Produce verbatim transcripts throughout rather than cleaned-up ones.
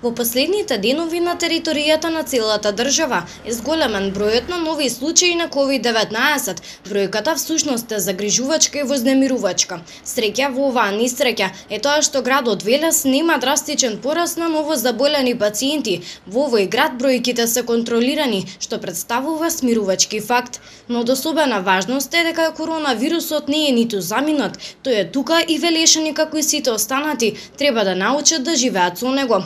Во последните денови на територијата на целата држава е зголемен бројот на нови случаи на ковид деветнаесет. Бројката всушност е загрижувачка и вознемирувачка. Среќа во оваа несреќа е тоа што градот Велес нема драстичен пораст на новозаболени пациенти. Во овој град бројките се контролирани, што представува смирувачки факт. Но од особена важност е дека коронавирусот не е ниту заминат, тој е тука и велешени како и сите останати треба да научат да живеат со него.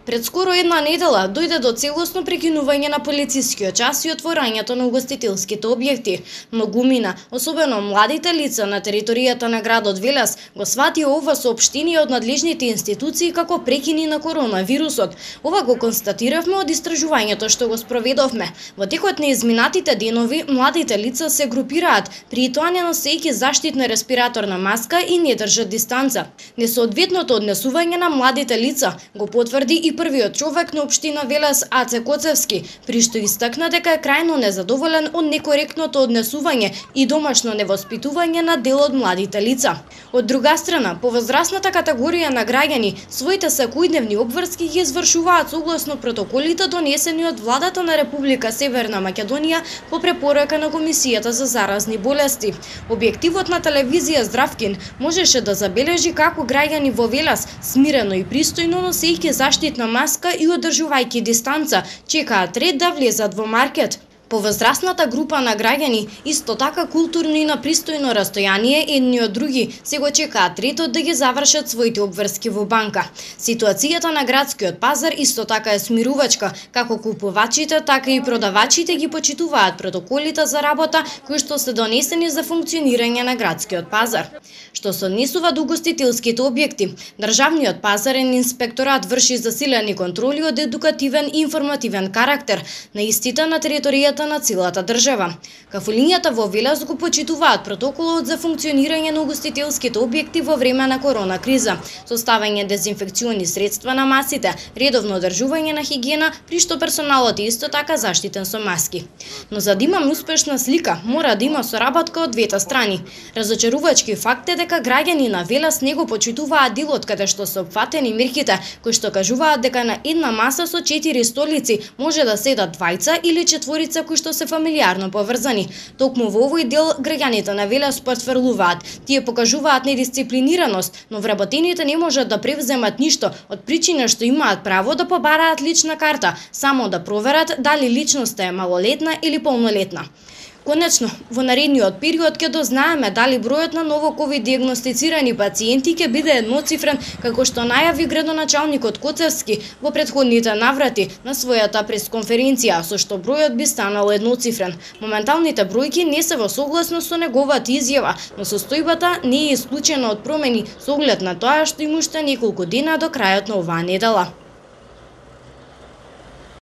Пред скоро една недела дојде до целосно прекинување на полицискиот час и отворањето на угостителските објекти. Многумина, особено младите лица на територијата на градот Велес, го свати ова соопштение од надлежните институции како прекини на коронавирусот. Ова го констатиравме од истражувањето што го спроведовме. Во текот на изминатите денови младите лица се групираат, при тоа не носејќи заштитна респираторна маска и не држат дистанца. Несоодветното однесување на младите лица го потврди и првиот човек на општина Велес Аце Коцевски, при што истакна дека е крајно незадоволен од некоректното однесување и домашно невоспитување на дел од младите лица. Од друга страна, повозрасната категорија на граѓани своите секојдневни обврски ги извршуваат согласно протоколите донесени од владата на Република Северна Македонија по препорака на Комисијата за заразни болести. Објективот на телевизија Здравкин можеше да забележи како граѓани во Велес смирено и пристојно носејќи заштитна маска и одржувајќи дистанца, чекаат ред да влезат во маркет. Повозрасната група на граѓани исто така културно и на пристојно растојание едни од други се го чекаат редот да ги завршат своите обврски во банка. Ситуацијата на градскиот пазар исто така е смирувачка, како купувачите, така и продавачите ги почитуваат протоколите за работа кои што се донесени за функционирање на градскиот пазар. Што се однесува до угостителските објекти, државниот пазарен инспекторат врши засилени контроли од едукативен и информативен карактер на истите на територијата на целата држава. Кафулињата во Велес го почитуваат протоколот за функционирање на угостителските објекти во време на корона криза, составање дезинфекциони средства на масите, редовно одржување на хигиена, при што персоналот е исто така заштитен со маски. Но за да имаме успешна слика, мора да има соработка од двете страни. Разочарувачки факт е дека граѓани на Велес не го почитуваат делот каде што се опфатени мерките, кои што кажуваат дека на една маса со четири столици може да седат двајца или четворица кои што се фамилиарно поврзани. Токму во овој дел граѓаните на Велес потврлуваат. Тие покажуваат недисциплинираност, но вработените не можат да превземат ништо од причина што имаат право да побараат лична карта, само да проверат дали личноста е малолетна или полнолетна. Конечно, во наредниот период ќе дознаеме дали бројот на ново ковид диагностицирани пациенти ќе биде едноцифрен, како што најави градоначалникот Коцевски во претходните наврати на својата пресконференција, со што бројот би станал едноцифрен. Моменталните бројки не се во согласност со неговата изјава, но состојбата не е исклучена од промени со оглед на тоа што има уште неколку дена до крајот на оваа недела.